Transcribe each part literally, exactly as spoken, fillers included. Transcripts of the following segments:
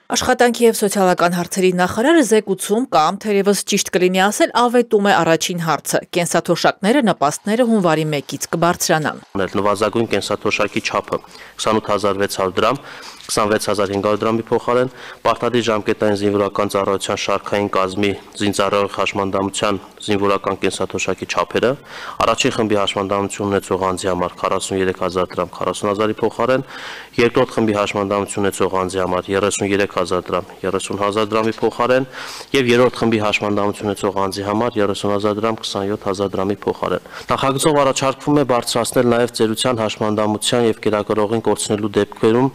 Աշխատանքի և սոցիալական հարցերի նախարարը զեկուցում կամ թերևս ճիշտ կլինի ասել ավետում է առաջին հարցը։ Կենսաթոշակները նպաստները հունվարի մեկից կբարձրանան։ Նվազագույն կենսաթոշակի չափը քսանութ հազար վեց հարյուր դրամ, քսանվեց հազար հինգ հարյուր դրամի փոխարեն, պարտադիր ժամկետային զինվորական ծառայության շարքային կազմի զինծառայող հաշմանդամության զինվորական կենսաթոշակի չափերը, առաջին խմբի հաշմանդամություն ունեցող անձի համար քառասուններեք հազար դրամ քառասուն հազարի փոխարեն, երկրորդ խմբի հաշմանդամություն ունեցող անձի համար երեսուններեք հազար դրամ երեսուն հազար դրամի փոխարեն եւ երրորդ խմբի հաշմանդամություն ունեցող անձի համար երեսուն հազար դրամ քսանյոթ հազար դրամի փոխարեն։ Նախագծով առաջարկվում է բարձրացնել նաեւ ծերության հաշմանդամության եւ կերակրողին կորցնելու դեպքերում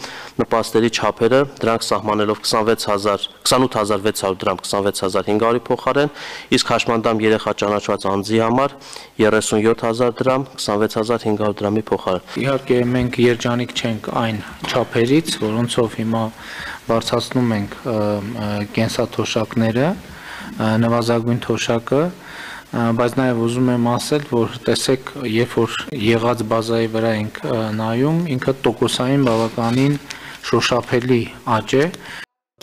նպաստերի չափերը, դրանք սահմանելով քսանվեց հազար քսանութ հազար վեց հարյուր դրամ քսանվեց հազար հինգ հարյուրի փոխարեն, իսկ հաշմանդամ երեխա ճանաչված անձի համար երեսունյոթ հազար դրամ քսանվեց հազար հինգ հարյուր դրամի փոխարեն։ Իհարկե մենք երջանիկ չենք այն չափերից, որոնցով հիմա բարձրացնում ենք կենսաթոշակները, նվազագույն թոշակը, բայց նաև ուզում եմ ասել, որ տեսեք, երբ որ եղած բազայի վրա ենք նայում, ինքը տոկոսային բավականին շոշափելի աճ է։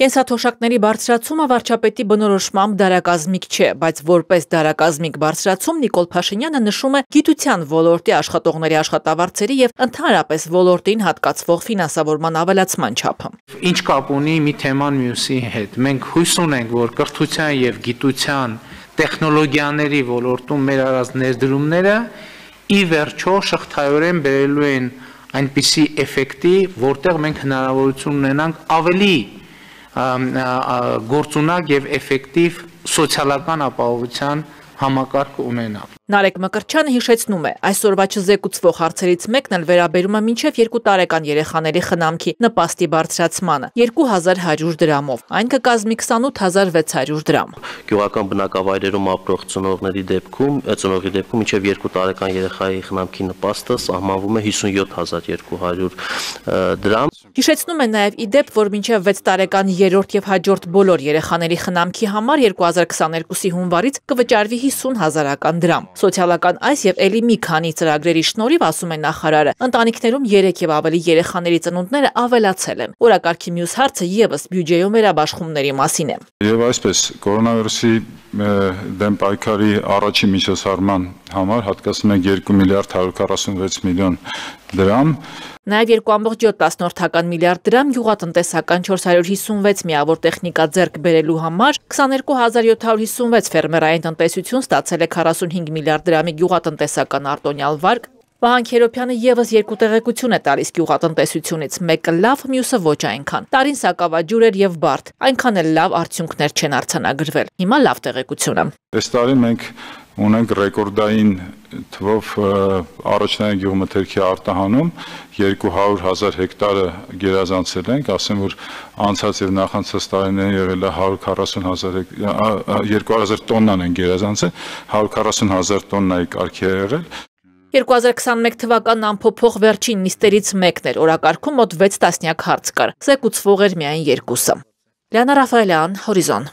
Կենսաթոշակների բարձրացումը վարչապետի բնորոշմամբ դարակազմիկ չէ, բայց որպես դարակազմիկ բարձրացում Նիկոլ Փաշինյանը նշում է գիտության ոլորտի աշխատողների աշխատավարձերի եւ ընդհանրապես ոլորտին հատկացվող ֆինանսավորման ավելացման չափը։ Ինչ կապ ունի մի թեման մյուսի հետ։ Մենք հույս ունենք, որ կրթության եւ գիտության տեխնոլոգիաների ոլորտում մեր արած ներդրումները ի վերջո շղթայորեն բերելու են այնպիսի էֆեկտի, որտեղ մենք հնարավորություն ունենանք ավելի գործունակ եւ էֆեկտիվ սոցիալական ապահովության համակարգ ունենալ։ Նարեկ Մկրտչյանը հիշեցնում է, այսօրվա չզեկուցվող հարցերից մեկն էլ վերաբերում է մինչև երկու տարեկան երեխաների խնամքի նպաստի բարձրացմանը երկու հազար հարյուր դրամով, այն կկազմի քսանութ հազար վեց հարյուր դրամ։ Գյուղական բնակավայրերում ապրող ծնողների դեպքում, ծնողի դեպքում մինչև երկու տարեկան երեխայի խնամքի նպաստը սահմանվում է հիսունյոթ հազար երկու հարյուր դրամ։ Հիշեցնում է նաև ի դեպ, որ մինչև վեց տարեկան երրորդ եւ հաջորդ բոլոր երեխաների խնամքի համար երկու հազար քսաներկուսի հունվարից կվճարվի հիսուն հազարական դրամ։ Սոցիալական այս եւ ելի մի քանի ծրագրերի շնորհիվ, ասում է նախարարը, ընտանիքներում երեք եւ ավելի երեխաների ծնունդները ավելացել են։ Օրակարգի մյուս հարցը եւս բյուջեում վերաբաշխումների մասին է։ Եվ այսպես կորոնավիրուսի դեմ պայքարի առաջին միջոցառման համար հատկացնում ենք երկու միլիարդ հարյուր քառասունվեց միլիոն դրամ։ Նաև երկու ամբողջ յոթ միլիարդ դրամ գյուղատնտեսական չորս հարյուր հիսունվեց միավոր տեխնիկա ձեռք բերելու համար, քսաներկու հազար յոթ հարյուր հիսունվեց ֆերմերային տնտեսություն ստացել է քառասունհինգ միլիարդ դրամի գյուղատնտեսական արտոնյալ վարկ։ Վահան Քերոբյանը եւս երկու տեղեկություն է տալիս գյուղատնտեսությունից, մեկը լավ, մյուսը ոչ այնքան։ Տարին սակավաջուր էր եւ բարդ, այնքան էլ լավ արդյունքներ չեն արձանագրվել։ Հիմա լավ տեղեկություն է։ Այս տարի մենք ունենք ռեկորդային թվով առաջնային գյուղմթերքի արտահանում, երկու հարյուր հազար հեկտարը գերազանցել ենք, ասեմ, որ անցած եւ նախանցած տարիներին եղել է հարյուր քառասուն հազար երկու հազար տոննան են գերազանցել, հարյուր քառասուն հազար տոննայի կարգի է եղել։ երկու հազար քսանմեկ թվականն անփոփոխ վերջին նիստերից մեկն էր, օրակարգում մոտ վեց տասնյակ հարց կար, զեկուցվող էր միայն երկուսը։ Լիանա Ռաֆայելյան, Հորիզոն։